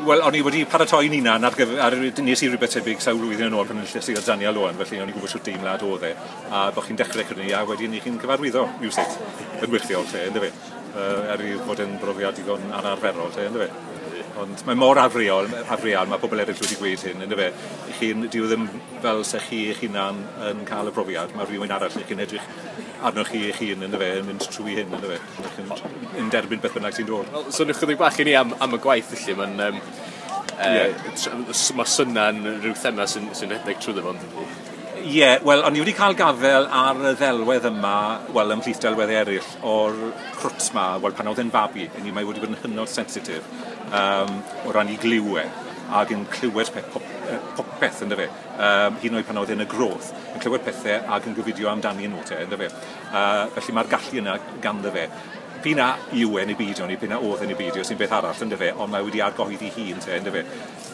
Wel, o'n i wedi paratoi'n hunan ar gyfer, nes i rhywbeth tebyg sawl blwyddyn yn ôl pan enilles i o Daniel Owen, felly o'n i'n gwybod shwt deimlad oedd e, a bod chi'n dechrau credu, a wedyn i chi'n cyfarwyddo, rhywsut, yn wyrthiol, te, ynddo fe. Er i fod yn brofiad digon anarferol, te, ynddo fe. Ond mae mor afreal, afreal, mae pobl eraill wedi gweud hyn, ynddo fe. Chi'n, dyw e ddim fel se chi eich hunan yn cael y profiad, mae rhywun arall chi'n edrych arnoch chi eich hun, ynddo fe, yn mynd trwy hyn, ynddo fe. Chi'n yn derbyn beth bynnag sy'n dod. Wel, soniwch chydig bach i ni am y gwaith felly, mae'n mae syna'n rhyw thema sy'n rhedeg trwyddo fo, yndydi? Ie, yeah, wel, o'n i wedi cael gafel ar y ddelwedd yma, wel, ymhlith delweddau eraill, o'r crwt ma, wel, pan oedd e'n fabi, ni mae wedi bod yn hynod sensitif o ran i gliwe, ac yn clywed popeth, ynddo fe. Hyd yn oed pan oedd e'n y groth, yn clywed pethau ac yn gofidio amdani nhw te, ynddo fe. Felly mae'r gallu yna ganddo fe. P'un a yw e neu beidio, neu p'un a oedd e neu beidio, sy'n beth arall, ynddo fe, ond mae wedi argyhoeddi hun te, ynddo fe.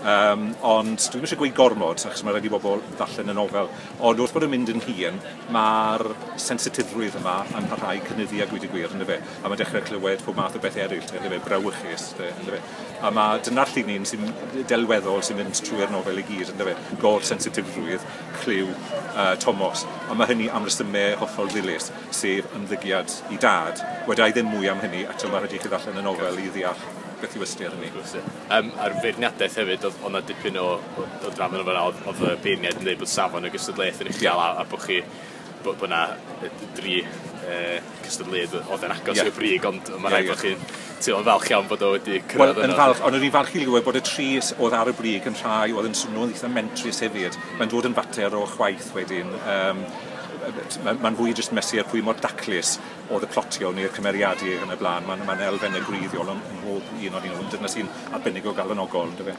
Ond dwi ddim eisiau gweud gormod, achos mae rhaid i bobl ddarllen y nofel, ond wrth bod yn mynd yn hŷn, mae'r sensitifrwydd yma yn parhau cynyddu a gweud y gwir, ynddo fe. A mae'n dechrau clywed pob math o bethau eraill, ynddo fe, brawychus, ynddo fe. A mae dyna'r llinyn sy'n delweddol sy'n mynd trwy'r nofel i gyd, ynddo fe, gor-sensitifrwydd, clyw Tomos. A mae hynny am resymau hollol ddilys, sef ymddygiad i dad. Weda i ddim mwy am hynny, eto mae rhaid i chi ddarllen y nofel i ddeall beth yw ystyr hynny. A'r feirniadaeth hefyd, oedd 'na dipyn o drafod yn fan'na, oedd y beirniaid yn dweud bod safon y gystadleuaeth yn uchel a bod chi bod 'na dri cystadleuydd oedd yn agos i'r brig, ond mae rhaid bod chi'n teimlo'n falch iawn bod o wedi cyrraedd yno. Wel, yn falch, ond o'n i'n falch i glywed bod y tri oedd ar y brig yn rhai oedd yn swnio'n eitha mentrus hefyd. Mae'n dod yn fater o chwaith wedyn. Mae'n fwy jyst mesur pwy mor daclus oedd y plotio neu'r cymeriadu yn y blaen. Mae'n elfennau gwreiddiol yn mhob un o'n nhw. Dyna sy'n arbennig o galonogol, yndyfe.